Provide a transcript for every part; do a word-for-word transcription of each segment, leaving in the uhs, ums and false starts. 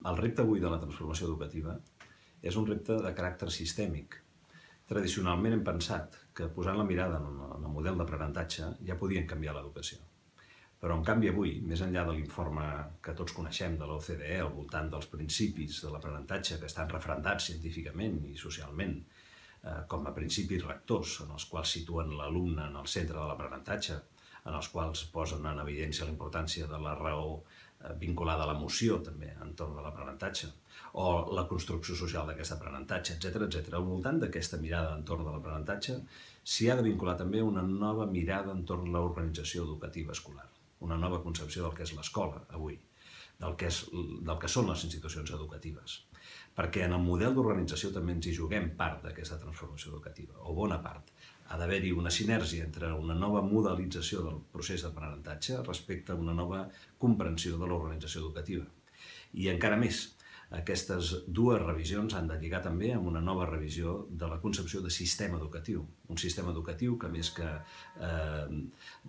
El repte avui de la transformació educativa és un repte de caràcter sistèmic. Tradicionalment hem pensat que posant la mirada en el model d'aprenentatge ja podien canviar l'educació. Però en canvi avui, més enllà de l'informe que tots coneixem de l'O C D E al voltant dels principis de l'aprenentatge que estan referendats científicament i socialment com a principis rectors en els quals situen l'alumne en el centre de l'aprenentatge, en els quals posen en evidència la importància de la raó vinculada a l'emoció també entorn de l'aprenentatge, o la construcció social d'aquest aprenentatge, etcètera, etcètera. Al voltant d'aquesta mirada entorn de l'aprenentatge s'hi ha de vincular també una nova mirada entorn de l'organització educativa escolar, una nova concepció del que és l'escola avui, del que, és, del que són les institucions educatives. Perquè en el model d'organització també ens hi juguem part d'aquesta transformació educativa, o bona part. Ha d'haver-hi una sinergia entre una nova modelització del procés d'aprenentatge respecte a una nova comprensió de l'organització educativa. I encara més, aquestes dues revisions han de lligar també amb una nova revisió de la concepció de sistema educatiu. Un sistema educatiu que, més que eh,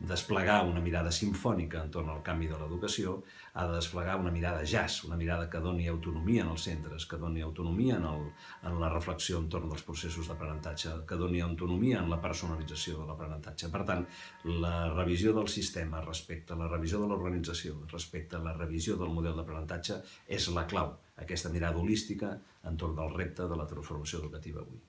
desplegar una mirada simfònica entorn al canvi de l'educació, ha de desplegar una mirada jazz, una mirada que doni autonomia en els centres, que doni autonomia en, el, en la reflexió entorn dels processos d'aprenentatge, que doni autonomia en la personalització de l'aprenentatge. Per tant, la revisió del sistema respecte a la revisió de l'organització, respecte a la revisió del model d'aprenentatge, és la clau, aquesta mirada holística entorn del repte de la transformació educativa avui.